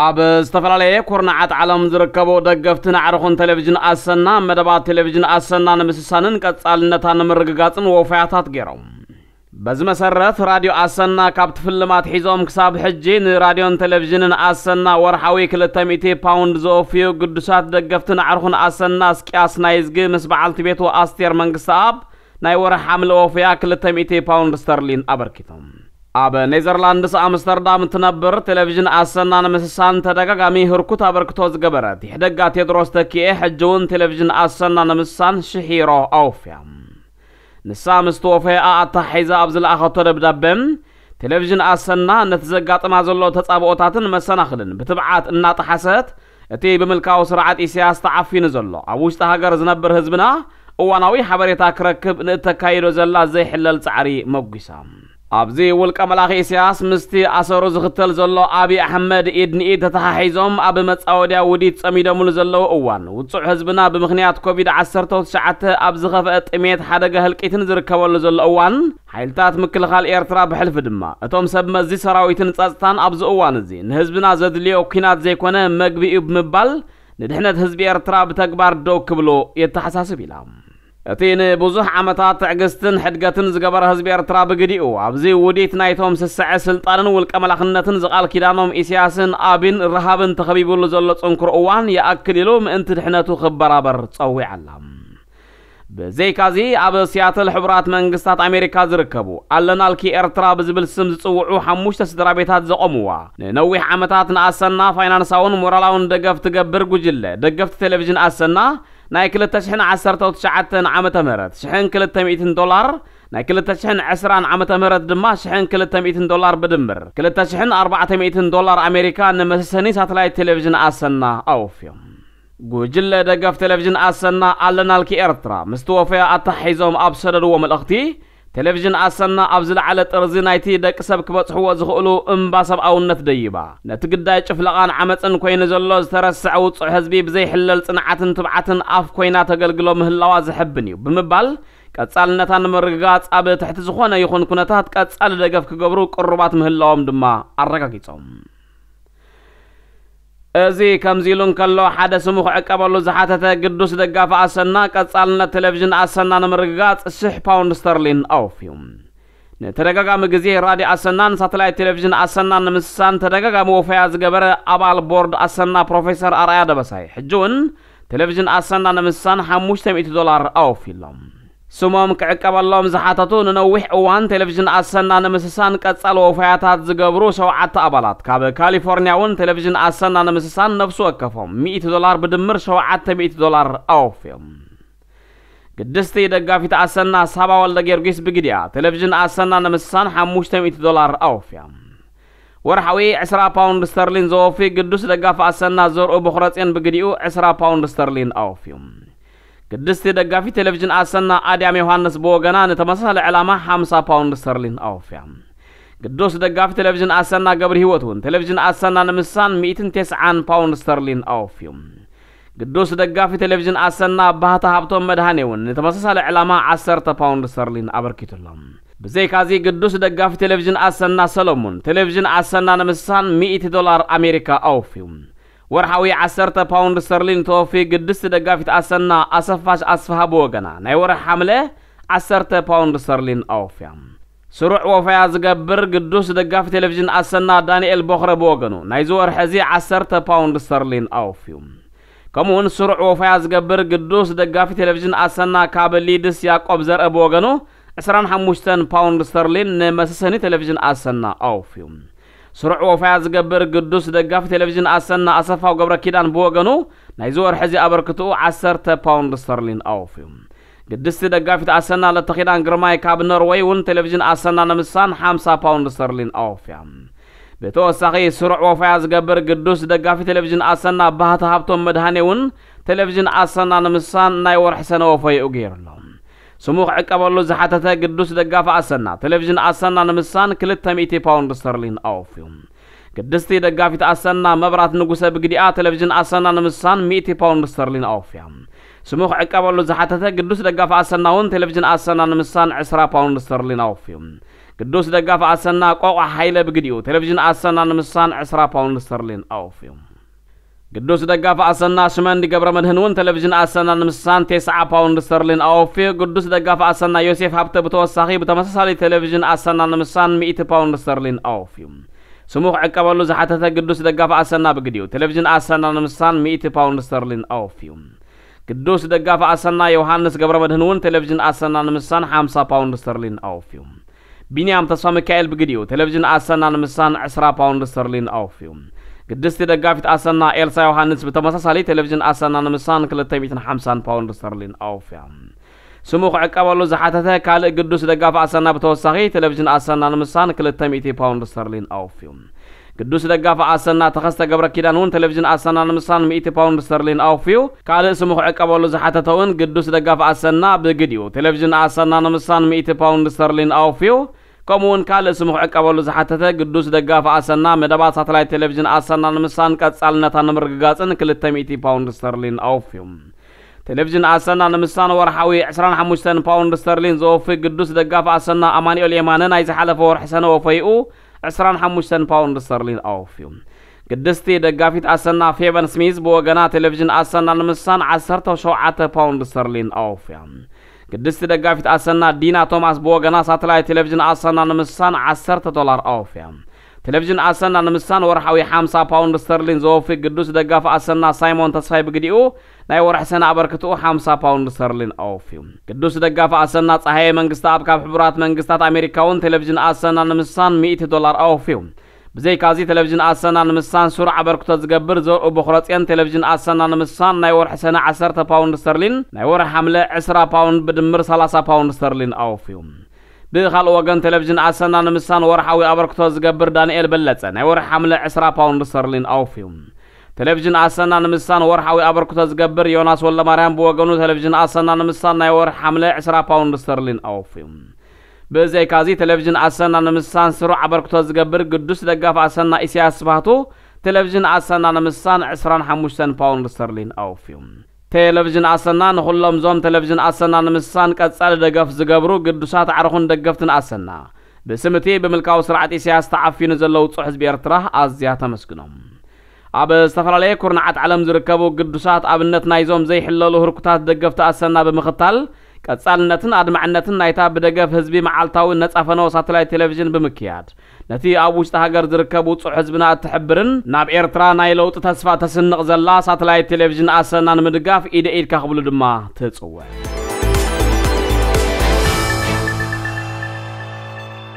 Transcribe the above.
ኣብ ዝተፈላለየ ኩርናዓት ዓለም ዝርከቡ ደገፍትን ኣዕሩኽን ቴሌቪዥን ኣሰና፣ መደባት ቴሌቪዥን ኣሰና ንምስሳንን ቀጻልነታ ንምርግጋጽን ወፈያታት ገይሮም። በዚ መሰረት፣ ራድዮ ኣሰና ካብ ትፍልማት ሒዞም ክሳብ ሕጂ ንራድዮን ቴሌቪዥንን ኣሰና ወርሓዊ ክልተ ሚእቲ ፓውንድ ዘወፍዩ ግዱሳት ደገፍትን ኣዕሩኽን ኣሰና፣ እስቅያስ ናይዝጊ ምስ በዓልቲ ቤቱ ኣስቴር መንግስተኣብ ናይ ወርሒ ሓምለ ወፍያ ክልተ ሚእቲ ፓውንድ ስተርሊን ኣበርኪቶም። ኣብ ኔዘርላንድስ ኣምስተርዳም እትነብር፣ ቴሌቪዥን ኣሰና ንምስሳን ተደጋጋሚ ህርኩት ኣበርክቶ ዝገበረት ይሕደጋ ቴድሮስ ተኪኤ፣ ሕጂ እውን ቴሌቪዥን ኣሰና ንምስሳን ሽሕ ዩሮ ኣወፍያ። ንሳ ምስ ተወፈያኣ ኣተሓሒዛ ኣብ ዝለኣኸቶ ደብዳበ፣ ቴሌቪዥን ኣሰና ነቲ ዘጋጥማ ዘሎ ተጻብኦታትን መሰናኽልን ብትብዓት እናጠሓሰት፣ እቲ ብምልካዊ ስርዓት ኢሳያስ ተዓፊኑ ዘሎ ኣብ ውሽጢ ሃገር ዝነብር ህዝብና እዋናዊ ሓበሬታ ክረክብ ንእተካይዶ ዘላ ዘይሕለል ጻዕሪ መጒሳ። ኣብዚ ውልቀ መላኺ ኢሳያስ ምስቲ ኣሰሩ ዝኽተል ዘሎ ኣብይ ኣሕመድ ኢድ ንኢድ ተተሓሒዞም ኣብ መጻወድያ ውዲት ጸሚዶምሉ ዘለዉ እዋን፣ ውጹዕ ህዝብና ብምኽንያት ኮቪድ ዓሰርተ ትሽዓተ ኣብ ዝኸፍአ ጥሜት፣ ሓደጋ ህልቂትን ዝርከበሉ ዘሎ እዋን፣ ሓይልታት ምክልኻል ኤርትራ ብሕልፊ ድማ እቶም ሰብ መዚ ሰራዊትን ጸጥታን ኣብዚ እዋን እዚ ንህዝብና ዘድልዮ ኲናት ዘይኮነ መግቢ እዩ ብምባል ንድሕነት ህዝቢ ኤርትራ ብተግባር ደው ክብሉ የተሓሳስብ ኢላ። እቲ ንብዙሕ ዓመታት ትዕግስትን ሕድገትን ዝገበረ ህዝቢ ኤርትራ ብግዲኡ፣ ኣብዚ ውዲት ናይቶም ስስዐ ስልጣንን ውልቀ መላኽነትን ዝቓል ኪዳኖም ኢሳያስን ኣብን ረሃብን ተኸቢቡሉ ዘሎ ጽንኩር እዋን ይኣክል ኢሉ ምእንቲ ድሕነቱ ክበራበር ጸዊዓ ኣላ። ብዘይካዚ፣ ኣብ ሲያትል ሕቡራት መንግስታት ኣሜሪካ ዝርከቡ ኣለናልኪ ኤርትራ ብዝብል ስም ዝጽውዑ ሓሙሽተ ስድራ ቤታት ዘቖምዋ፣ ንነዊሕ ዓመታት ንኣሰና ፋይናንሳውን ሞራላውን ደገፍ ትገብር ጉጅለ ደገፍቲ ቴሌቪዥን ኣሰና፣ ናይ ክልተ ሽሕን ዓሰርተ ትሽዓተን ዓመተ ምህረት ሽሕን ክልተ ሚእትን ዶላር፣ ናይ ክልተ ሽሕን ዕስራን ዓመተ ምህረት ድማ ሽሕን ክልተ ሚእትን ዶላር ብድምር ክልተ ሽሕን ኣርባዕተ ሚእትን ዶላር ኣሜሪካ ንመሰሰኒ ሳተላይት ቴሌቪዥን ኣሰና ኣወፍዮም። ጉጅለ ደገፍ ቴሌቪዥን ኣሰና ኣለናልኪ ኤርትራ ምስ ተወፈያ ኣተሓሒዞም ኣብ ሰደድዎ መልእኽቲ፣ ቴሌቪዥን ኣሰና ኣብ ዝለዓለ ጥርዚ ናይቲ ደቂ ሰብ ክበጽሕዎ ዝኽእሉ እምባ ሰብኣውነት ደይባ፣ ነቲ ግዳይ ጭፍለቓን ዓመጽን ኮይኑ ዘሎ ዝተረስዐ ውጹዕ ህዝቢ ብዘይሕለል ጽንዓትን ትብዓትን ኣፍ ኮይና ተገልግሎ ምህላዋ ዘሐብን እዩ ብምባል፣ ቀጻልነታ ንምርግጋጽ ኣብ ትሕቲ ዝኾነ ይኹን ኩነታት ቀጻሊ ደገፍ ክገብሩ ቅሩባት ምህላዎም ድማ ኣረጋጊጾም። እዚ ከምዚ ኢሉ እንከሎ፣ ሓደ ስሙ ክዕቀበሉ ዝሓተተ ግዱስ ደጋፊ ኣሰና፣ ቀጻልነት ቴሌቪዥን ኣሰና ንምርግጋጽ ሽሕ ፓውንድ ስተርሊን ኣወፍዩ። ንተደጋጋሚ ግዜ ራድዮ ኣሰናን ሳተላይት ቴሌቪዥን ኣሰናን ንምስሳን ተደጋጋሚ ወፈያ ዝገበረ ኣባል ቦርድ ኣሰና ፕሮፌሰር ኣርኣያ ደበሳይ፣ ሕጂ እውን ቴሌቪዥን ኣሰና ንምስሳን ሓሙሽተ ሚእቲ ዶላር ኣወፍዩሎም። ስሞም ክዕቀበሎም ዝሓተቱ ንነዊሕ እዋን ቴሌቪዥን ኣሰና ንምስሳን ቀጻሊ ወፈያታት ዝገብሩ ሸውዓተ ኣባላት፣ ካብ ካሊፎርንያ እውን ቴሌቪዥን ኣሰና ንምስሳን ነፍሲ ወከፎም ሚእቲ ዶላር፣ ብድምር ሸውዓተ ሚእቲ ዶላር ኣወፍዮም። ግድስቲ ደጋፊት ኣሰና ሳባ ወልደ ጊዮርጊስ ብግዲኣ፣ ቴሌቪዥን ኣሰና ንምስሳን ሓሙሽተ ሚእቲ ዶላር ኣወፍያ። ወርሓዊ ዕስራ ፓውንድ ስተርሊን ዘወፊ ግዱስ ደጋፊ ኣሰና ዘርኡ በኹረጽዮን ብግዲኡ ዕስራ ፓውንድ ስተርሊን ኣወፍዩ። ግድስቲ ደጋፊ ቴሌቪዥን ኣሰና ኣድያም ዮሃንስ ብወገና ንተመሳሳሊ ዕላማ ሓምሳ ፓውንድ ስተርሊን ኣወፍያ። ግዱስ ደጋፊ ቴሌቪዥን ኣሰና ገብሪ ህይወት እውን ቴሌቪዥን ኣሰና ንምስሳን ሚእትን ተስዓን ፓውንድ ስተርሊን ኣወፍዩ። ግዱስ ደጋፊ ቴሌቪዥን ኣሰና ባህታ ሃብቶም መድሃኔ እውን ንተመሳሳሊ ዕላማ ዓሰርተ ፓውንድ ስተርሊን ኣበርኪቱሎም። ብዘይካዚ ግዱስ ደጋፊ ቴሌቪዥን ኣሰና ሰለሙን ቴሌቪዥን ኣሰና ንምስሳን ሚእቲ ዶላር ኣሜሪካ ኣወፍዩ። ወርሓዊ ዓሰርተ ፓውንድ ስተርሊን ተወፊ ግድስቲ ደጋፊት ኣሰና ኣሰፋሽ ኣስፍሃ ብወገና ናይ ወርሒ ሓምለ ዓሰርተ ፓውንድ ስተርሊን ኣወፍያ። ስሩዕ ወፈያ ዝገብር ግዱስ ደጋፊ ቴሌቪዥን ኣሰና ዳንኤል ቦኽረ ብወገኑ ናይዚ ወርሒ እዚ ዓሰርተ ፓውንድ ስተርሊን ኣወፍዩ። ከምኡውን ስሩዕ ወፈያ ዝገብር ግዱስ ደጋፊ ቴሌቪዥን ኣሰና ካብ ሊድስ ያዕቆብ ዘርአ ብወገኑ ዕስራን ሓሙሽተን ፓውንድ ስተርሊን ንመሰሰኒ ቴሌቪዥን ኣሰና ኣወፍዩ። ስሩዕ ወፈያ ዝገብር ግዱስ ደጋፊ ቴሌቪዥን ኣሰና ኣሰፋው ገብረ ኪዳን ብወገኑ ናይዚ ወርሒ እዚ ኣበርክትኡ ዓሰርተ ፓውንድ ስተርሊን ኣወፍዩ። ግድስቲ ደጋፊት ኣሰና ለተኺዳን ግርማይ ካብ ኖርወይ እውን ቴሌቪዥን ኣሰና ንምስሳን ሓምሳ ፓውንድ ስተርሊን ኣወፍያ። ብተወሳኺ ስሩዕ ወፈያ ዝገብር ግዱስ ደጋፊ ቴሌቪዥን ኣሰና ባህታ ሃብቶም መድሃኔ እውን ቴሌቪዥን ኣሰና ንምስሳን ናይ ወርሒ ሰነ ወፈይኡ ገይሩ ኣሎ። ስሙ ክዕቀበሉ ዝሓተተ ግዱስ ደጋፊ ኣሰና ቴሌቪዥን ኣሰና ንምስሳን ክልተ ሚእቲ ፓውንድ ስተርሊን ኣወፍዩ። ግድስቲ ደጋፊት ኣሰና መብራት ንጉሰ ብግዲኣ ቴሌቪዥን ኣሰና ንምስሳን ሚእቲ ፓውንድ ስተርሊን ኣወፍያ። ስሙ ክዕቀበሉ ዝሓተተ ግዱስ ደጋፊ ኣሰና እውን ቴሌቪዥን ኣሰና ንምስሳን ዕስራ ፓውንድ ስተርሊን ኣወፍዩ። ግዱስ ደጋፊ ኣሰና ቆቋ ሓይለ ብግዲኡ ቴሌቪዥን ኣሰና ንምሳን ዕስራ ፓውንድ ስተርሊን ኣወፍዩ። ግዱስ ደጋፊ ኣሰና ሽመንዲ ገብረ መድህን እውን ቴሌቪዥን ኣሰና ንምሳን ተስዓ ፓውንድ ስተርሊን ኣወፍዩ። ግዱስ ደጋፊ ኣሰና ዮሴፍ ሃብተ ብተወሳኺ ብተመሳሳሊ ቴሌቪዥን ኣሰና ንምሳን ሚእቲ ፓውንድ ስተርሊን ኣወፍዩ። ስሙ ክዕቀበሉ ዝሓተተ ግዱስ ደጋፊ ኣሰና ብግዲኡ ቴሌቪዥን ኣሰና ንምሳን ሚእቲ ፓውንድ ስተርሊን ኣወፍዩ። ግዱስ ደጋፊ ኣሰና ዮሃንስ ገብረ መድህን እውን ቴሌቪዥን ኣሰና ንምሳን ሓምሳ ፓውንድ ስተርሊን ኣወፍዩ። ቢንያም ተስፋ ሚካኤል ብግዲኡ ቴሌቪዥን ኣሰና ንምሳን ዕስራ ፓውንድ ስተርሊን ኣወፍዩ። ግድስቲ ደጋፊት ኣሰና ኤልሳ ዮሃንስ ብተመሳሳሊ ቴሌቪዥን ኣሰና ንምሳን ክልተ ሚእትን ሓምሳን ፓውንድ ስተርሊን ኣወፍያ። ስሙ ክዕቀበሉ ዝሓተተ ካልእ ግዱስ ደጋፊ ኣሰና ብተወሳኺ ቴሌቪዥን ኣሰና ንምሳን ክልተ ሚእቲ ፓውንድ ስተርሊን ኣወፍዩ። ግዱስ ደጋፊ ኣሰና ተኸስተ ገብረ ኪዳን እውን ቴሌቪዥን ኣሰና ንምሳን ሚእቲ ፓውንድ ስተርሊን ኣወፍዩ። ካልእ ስሙ ክዕቀበሉ ዝሓተተ እውን ግዱስ ደጋፊ ኣሰና ብግዲኡ ቴሌቪዥን ኣሰና ንምሳን ሚእቲ ፓውንድ ስተርሊን ኣወፍዩ። ከምኡ እውን ካልእ ስሙ ክዕቀበሉ ዝሓተተ ግዱስ ደጋፊ ኣሰና መደባት ሳተላይት ቴሌቪዥን ኣሰና ንምሳን ቀጻልነታ ንምርግጋጽን ክልተ ሚእቲ ፓውንድ ስተርሊን ኣወፍዩ። ቴሌቪዥን ኣሰና ንምሳን ወርሓዊ ዕስራን ሓሙሽተን ፓውንድ ስተርሊን ዘወፍይ ግዱስ ደጋፊ ኣሰና ኣማኑኤል የማነ ናይ ዝሓለፈ ወርሒ ሰነ ወፈይኡ ዕስራን ሓሙሽተን ፓውንድ ስተርሊን ኣወፍዩ። ግድስቲ ደጋፊት ኣሰና ፌቨን ስሚዝ ብወገና ቴሌቪዥን ኣሰና ንምሳን ዓሰርተ ሸውዓተ ፓውንድ ስተርሊን ኣወፍያ። ግድስቲ ደጋፊት ኣሰና ዲና ቶማስ ብወገና ሳተላይት ቴሌቪዥን ኣሰና ንምሳን ዓሰርተ ዶላር ኣወፍያ። ቴሌቪዥን ኣሰና ንምሳን ወርሓዊ ሓምሳ ፓውንድ ስተርሊን ዘወፍይ ግዱስ ደጋፊ ኣሰና ሳይሞን ተስፋይ ብግዲኡ ናይ ወርሒ ሰነ ኣበርክትኡ ሓምሳ ፓውንድ ስተርሊን ኣወፍዩ። ግዱስ ደጋፊ ኣሰና ጸሃየ መንግስቲ ኣብ ካብ ሕቡራት መንግስታት ኣሜሪካ እውን ቴሌቪዥን ኣሰና ንምሳን ሚእቲ ዶላር ኣወፍዩ። ብዘይካዚ ቴሌቪዥን ኣሰና ንምሳን ስሩዕ ኣበርክቶ ዝገብር ዘርኡ ቦኽረጽዮን ቴሌቪዥን ኣሰና ንምሳን ናይ ወርሒ ሰነ ዓሰርተ ፓውንድ ስተርሊን ናይ ወርሒ ሓምለ ዕስራ ፓውንድ ብድምር ሰላሳ ፓውንድ ስተርሊን ኣወፍዩ። ብኻልእ ወገን ቴሌቪዥን ኣሰና ንምሳን ወርሓዊ ኣበርክቶ ዝገብር ዳንኤል በለጸ ናይ ወርሒ ሓምለ ዕስራ ፓውንድ ስተርሊን ኣወፍዩ። ቴሌቪዥን ኣሰና ንምሳን ወርሓዊ ኣበርክቶ ዝገብር ዮናስ ወልደማርያም ብወገኑ ቴሌቪዥን ኣሰና ንምሳን ናይ ወርሒ ሓምለ ዕስራ ፓውንድ ስተርሊን ኣወፍዩ። ብዘይካዚ ቴሌቪዥን ኣሰና ንምሳን ስሩዕ ኣበርክቶ ዝገብር ግዱስ ደጋፊ ኣሰና ኢሳያስ ስብሃቱ ቴሌቪዥን ኣሰና ንምሳን ዕስራን ሓሙሽተን ፓውንድ ስተርሊን ኣወፍዩ። ቴሌቪዥን ኣሰና ንኹሎም ዞም ቴሌቪዥን ኣሰና ንምሳን ቀጻሊ ደገፍ ዝገብሩ ግዱሳት ኣዕሩኽን ደገፍትን ኣሰና ብስም እቲ ብምልካዊ ስርዓት ኢሳያስ ተዓፊኑ ዘሎ ውጹዕ ህዝቢ ኤርትራ ኣዝያ ተመስግኖም። ኣብ ዝተፈላለየ ኩርናዓት ዓለም ዝርከቡ ግዱሳት ኣብነት ናይዞም ዘይሕለሉ ህርኩታት ደገፍቲ ኣሰና ብምኽታል ቀጻልነትን ኣድማዕነትን ናይታ ብደገፍ ህዝቢ መዓልታዊ ነጻ ፈነወ ሳተላይት ቴሌቪዥን ብምክያድ ነቲ ኣብ ውሽጢ ሃገር ዝርከብ ውጹዕ ህዝብና እትሕብርን ናብ ኤርትራ ናይ ለውጢ ተስፋ ተስንቕ ዘላ ሳተላይት ቴሌቪዥን ኣሰና ንምድጋፍ ኢደ ኢድካ ክብሉ ድማ ትጽውዕ።